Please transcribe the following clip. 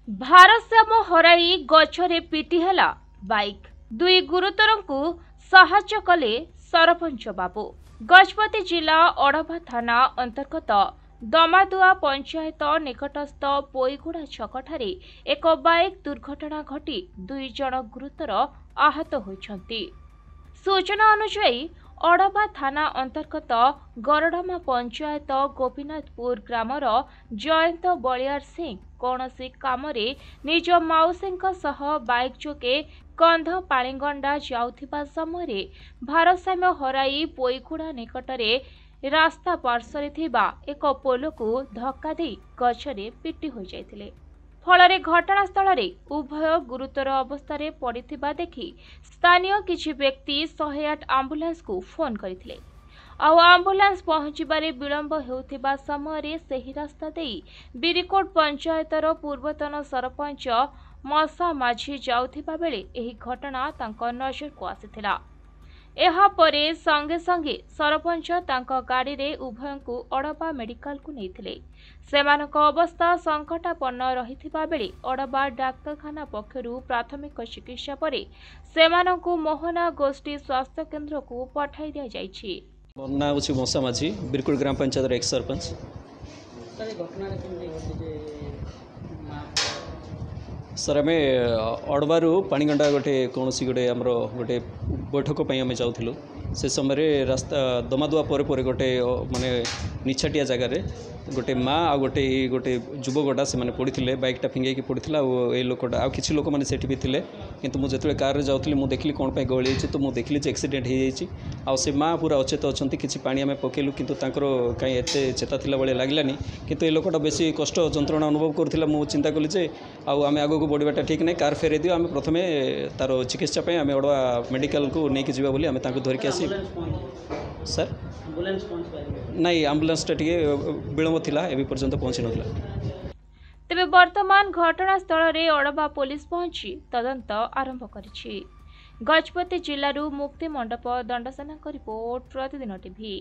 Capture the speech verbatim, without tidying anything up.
ଭାରସାମ୍ୟ ହରାଇ ଗଛରେ ପିଟି ହେଲା ବାଇକ୍, ଦୁଇ ଗୁରୁତରଙ୍କୁ ସାହାଯ୍ୟ କଲେ ସରପଞ୍ଚ ବାବୁ। ଗଜପତି ଜିଲ୍ଲା ଅଡ଼ବା ଥାନା ଅନ୍ତର୍ଗତ ଦମାଦୁଆ ପଞ୍ଚାୟତ ନିକଟସ୍ଥ ପୋଇଗୁଡ଼ା ଛକଠାରେ ଏକ ବାଇକ୍ ଦୁର୍ଘଟଣା ଘଟି ଦୁଇ ଜଣ ଗୁରୁତର ଆହତ ହୋଇଛନ୍ତି। ସୂଚନା ଅନୁଯାୟୀ, ଅଡ଼ବା ଥାନା ଅନ୍ତର୍ଗତ ଗରଡ଼ମା ପଞ୍ଚାୟତ ଗୋପୀନାଥପୁର ଗ୍ରାମର ଜୟନ୍ତ ବଳିୟାର ସିଂ କୌଣସି କାମରେ ନିଜ ମାଉସୀଙ୍କ ସହ ବାଇକ୍ ଯୋଗେ କନ୍ଧପାଣିଗଣ୍ଡା ଯାଉଥିବା ସମୟରେ ଭାରସାମ୍ୟ ହରାଇ ପୋଇଗୁଡ଼ା ନିକଟରେ ରାସ୍ତା ପାର୍ଶ୍ୱରେ ଥିବା ଏକ ପୋଲକୁ ଧକ୍କା ଦେଇ ଗଛରେ ପିଟି ହୋଇଯାଇଥିଲେ। ଫଳରେ ଘଟଣାସ୍ଥଳରେ ଉଭୟ ଗୁରୁତର ଅବସ୍ଥାରେ ପଡ଼ିଥିବା ଦେଖି ସ୍ଥାନୀୟ କିଛି ବ୍ୟକ୍ତି ଶହେ ଆଠ ଆମ୍ବୁଲାନ୍ସକୁ ଫୋନ୍ କରିଥିଲେ। ଆଉ ଆମ୍ବୁଲାନ୍ସ ପହଞ୍ଚିବାରେ ବିଳମ୍ବ ହେଉଥିବା ସମୟରେ ସେହି ରାସ୍ତା ଦେଇ ବିରିକୋଟ ପଞ୍ଚାୟତର ପୂର୍ବତନ ସରପଞ୍ଚ ମଶା ମାଝୀ ଯାଉଥିବା ବେଳେ ଏହି ଘଟଣା ତାଙ୍କ ନଜରକୁ ଆସିଥିଲା। ଏହାପରେ ସଙ୍ଗେ ସଙ୍ଗେ ସରପଞ୍ଚ ତାଙ୍କ ଗାଡ଼ିରେ ଉଭୟଙ୍କୁ ଅଡ଼ବା ମେଡିକାଲକୁ ନେଇଥିଲେ। ସେମାନଙ୍କ ଅବସ୍ଥା ସଙ୍କଟାପନ୍ନ ରହିଥିବା ବେଳେ ଅଡ଼ବା ଡାକ୍ତରଖାନା ପକ୍ଷରୁ ପ୍ରାଥମିକ ଚିକିତ୍ସା ପରେ ସେମାନଙ୍କୁ ମୋହନା ଗୋଷ୍ଠୀ ସ୍ୱାସ୍ଥ୍ୟକେନ୍ଦ୍ରକୁ ପଠାଇ ଦିଆଯାଇଛି। ମୋ ନାଁ ହେଉଛି ମଶା ମାଝୀ, ବିରକୁଟ ଗ୍ରାମ ପଞ୍ଚାୟତର ଏକ୍ସ ସରପଞ୍ଚ। ସାର୍, ଏ ଘଟଣାଟା କେମିତି ଘଟିଛି ମା? ସାର୍, ଆମେ ଅଡ଼ବାରୁ ପାଣିଗଣ୍ଡା ଗୋଟେ କୌଣସି ଗୋଟେ ଆମର ଗୋଟେ ବୈଠକ ପାଇଁ ଆମେ ଯାଉଥିଲୁ। ସେ ସମୟରେ ରାସ୍ତା ଦମାଦୁଆ ପରେ ପରେ ଗୋଟେ ମାନେ ନିଛାଟିଆ ଜାଗାରେ ଗୋଟେ ମା ଆଉ ଗୋଟେ ଏଇ ଗୋଟେ ଯୁବକଟା ସେମାନେ ପଡ଼ିଥିଲେ। ବାଇକ୍ଟା ଫିଙ୍ଗେଇକି ପଡ଼ିଥିଲା ଆଉ ଏଇ ଲୋକଟା ଆଉ କିଛି ଲୋକମାନେ ସେଠି ବି ଥିଲେ। କିନ୍ତୁ ମୁଁ ଯେତେବେଳେ କାର୍ରେ ଯାଉଥିଲି, ମୁଁ ଦେଖିଲି କ'ଣ ପାଇଁ ଗହଳି ହେଇଛି। ତ ମୁଁ ଦେଖିଲି ଯେ ଆକ୍ସିଡେଣ୍ଟ ହେଇଯାଇଛି ଆଉ ସେ ମା ପୁରା ଅଚେତ ଅଛନ୍ତି। କିଛି ପାଣି ଆମେ ପକେଇଲୁ, କିନ୍ତୁ ତାଙ୍କର କାହିଁ ଏତେ ଚେତା ଥିଲା ଭଳିଆ ଲାଗିଲାନି। କିନ୍ତୁ ଏ ଲୋକଟା ବେଶୀ କଷ୍ଟ ଯନ୍ତ୍ରଣା ଅନୁଭବ କରୁଥିଲା। ମୁଁ ଚିନ୍ତା କଲି ଯେ ଆଉ ଆମେ ଆଗକୁ ବଢ଼ିବାଟା ଠିକ୍ ନାହିଁ, କାର୍ ଫେରାଇ ଦିଅ, ଆମେ ପ୍ରଥମେ ତା'ର ଚିକିତ୍ସା ପାଇଁ ଆମେ ଅଡ଼ବା ମେଡ଼ିକାଲକୁ ନେଇକି ଯିବା ବୋଲି ଆମେ ତାଙ୍କୁ ଧରିକି ଆସି। ଆମ୍ବୁଲାନ୍ସ ପହଞ୍ଚି ସାର୍, ଆମ୍ବୁଲାନ୍ସ ପହଞ୍ଚି ପାରିଲେ? ନାଇଁ, ଆମ୍ବୁଲାନ୍ସଟା ଟିକେ ବିଳମ୍ବ ଥିଲା, ଏବେ ପର୍ଯ୍ୟନ୍ତ ପହଞ୍ଚି ନଥିଲା। ତେବେ ବର୍ତ୍ତମାନ ଘଟଣାସ୍ଥଳରେ ଅଡ଼ବା ପୋଲିସ ପହଞ୍ଚି ତଦନ୍ତ ଆରମ୍ଭ କରିଛି। ଗଜପତି ଜିଲ୍ଲାରୁ ମୁକ୍ତି ମଣ୍ଡପ ଦଣ୍ଡସେନାଙ୍କ ରିପୋର୍ଟ, ପ୍ରତିଦିନ ଟିଭି।